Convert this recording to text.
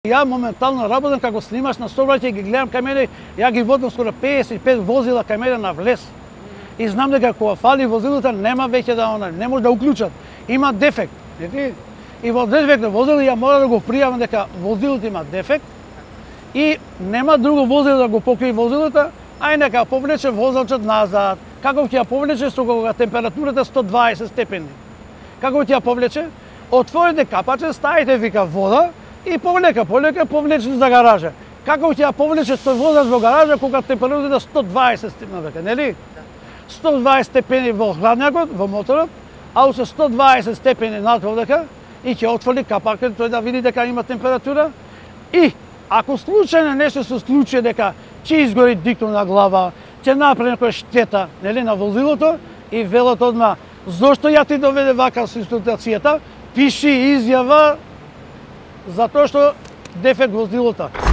Ја моментално работам како снимач на сообраќај, ги гледам кај мене, ја ги водам скоро 55 возила кај мене на влез. И знам дека кога фали возилата нема веќе да не може да уклучат. Има дефект. И во одреден на возило ја мора да го пријавам дека возилото има дефект и нема друго возило да го покри возилото, а и нека повлече возачот назад. Како ќе ја повлече со кога температурата 120 степени? Како ќе ја повлече? Отворите капаче, ставите вика вода и полека повлече за гаража. Како ќе ја повлече тој водач во гаража кога температурата 120 степени века, нели? 120 степени во хладњакот, во моторот, а со 120 степени надводека и ќе отвори капакот тој да види дека има температура. И ако случајно нешто се случи дека ќе изгори диктор на глава, ќе направи некоја штета, нели, на возилото и велат одма зошто ја ти доведе вака со ситуацијата, пиши изјава затоа што дефект возилото.